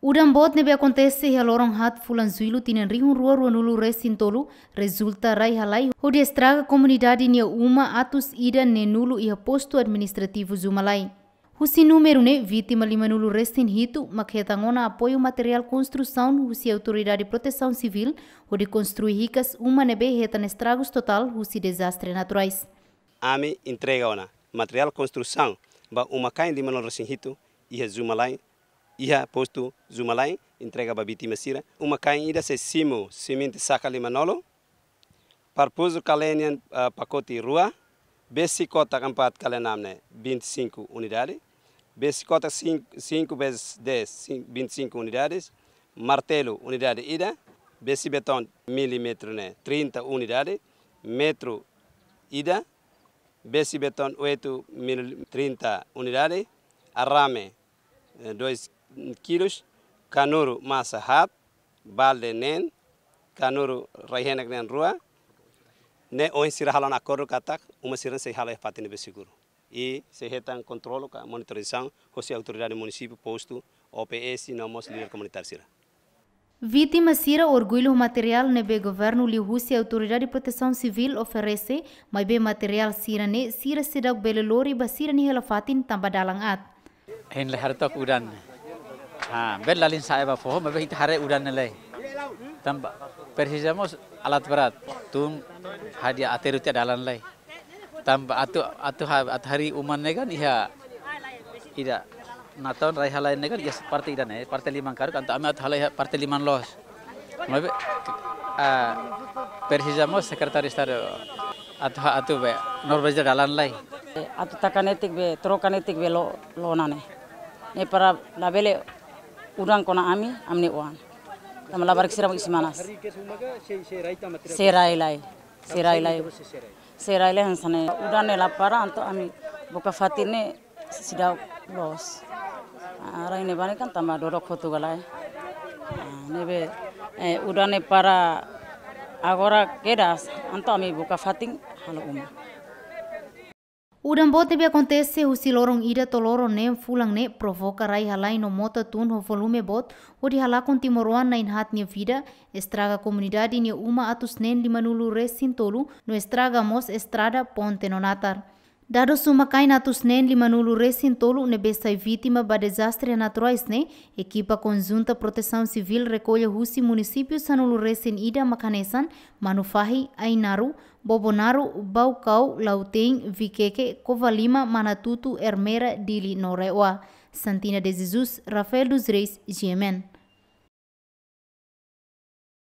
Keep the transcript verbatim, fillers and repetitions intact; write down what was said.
Udan boot ne'ebé akontese iha loron haat fulan Jullu tinan rihun rua ruanulu resin tolu, rezulta rai-halai hodi estraga komunidade nia uma atus ida neenulu iha postu administrativu Zumalai. Husi númeru ne'e, vítima limanulu resin hitu mak hetan ona apoiu materiál konstrusaun husi Autoridade Protesaun Sivíl hodi konstrui hikas uma ne'ebé hetan estragus totál husi dezastre naturais. Ami entrega ona materiál konstrusaun ba uma-kain limanulu resin hitu iha Zumalai, iha postu Zumalai, entrega ba vítima sira. Uma-kain ida sei simu simente saka limanulu, parpuzu kale nian, ah, pakote rua, besi kotak empat kale enam ne'e vinte e cinco unidade, besi kotak cinco, cinco vezes dez, cin-, vinte e cinco unidades, martelu unidade ida, besi betón milímetru ne'e trinta unidade, metru ida, besi betón oito mil, trinta unidade, arame, eh, dois kilos, kanuru masa haat, balde neen, kanuru rai-henek neen rua, ne'e ohin sira halo ona akordu katak uma sira sei halo iha fatin ne'ebé seguru. I sei hetan kontrolu ka monitorizasaun husi autoridade munisípiu, postu, O P S, no mós líder komunitáriu sira. Vítima sira orgullu ho materiál ne'ebé governu liuhusi Autoridade Protesaun Sivíl oferese, maibé materiál sira-ne'e sira seidauk bele lori ba sira-nia hela-fatin tanba dalan aat. Hein lai haree took udan. Ha, bele lalin sa'e ba foho, maibé ita haree udan ne'e lai. Tanba presiza mós alat berat, tun hadi'a aterru tiha dalan lai. Tanba atu, atu ha-, atu harii uma ne'e kan iha ida. Natoon rai-halai ne'e kan iha parte ida ne'e, parte liman karuk, entaun ami atu halai iha parte liman loos. Maibé, ah, presiza mós Sekretáriu Estadu atu ha-, atu be normaliza dalan lai. Atu taka netik be, troka netik be lo, loos ona ne'e. Ne'e para labele udan kona ami, ami-nia oan. Tanba labarik sira mak isin-manas. Sei rai lai. Sei rai lai. Sei rai lai hanesan ne'e. Udan ne'e la para, entaun ami buka fatin ne'e seidauk loos. Ah, rai ne'ebá ne'e kan tanba dodok hotu ka lae. Ah, ne'ebé, eh, udan ne'e para agora kedas, entaun ami buka fatin halo uma. Udan boot ne'ebé akontese husi loron ida to'o loron neen fulan ne'e provoka rai-halai no mota tun ho volume boot, hodi halakon timoroan na'in-haat nia vida, estraga komunidade nia uma atus neen limanulu resin tolu, no estraga mós estrada, ponte no natar. Dadus uma-kain atus neen limanulu resin tolu ne'ebé sai vítima ba dezastre naturais ne'e, ekipa konjunta Protesaun Sivíl rekolla husi munisípiu sanulu resin ida mak hanesan Manufahi, Ainaro, Bobonaro, Baucau, Lautein, Viqueque, Covalima, Manatuto, Ermera, Dili no RAEOA. Santina de Jesus, Rafael dos Reis, G M N.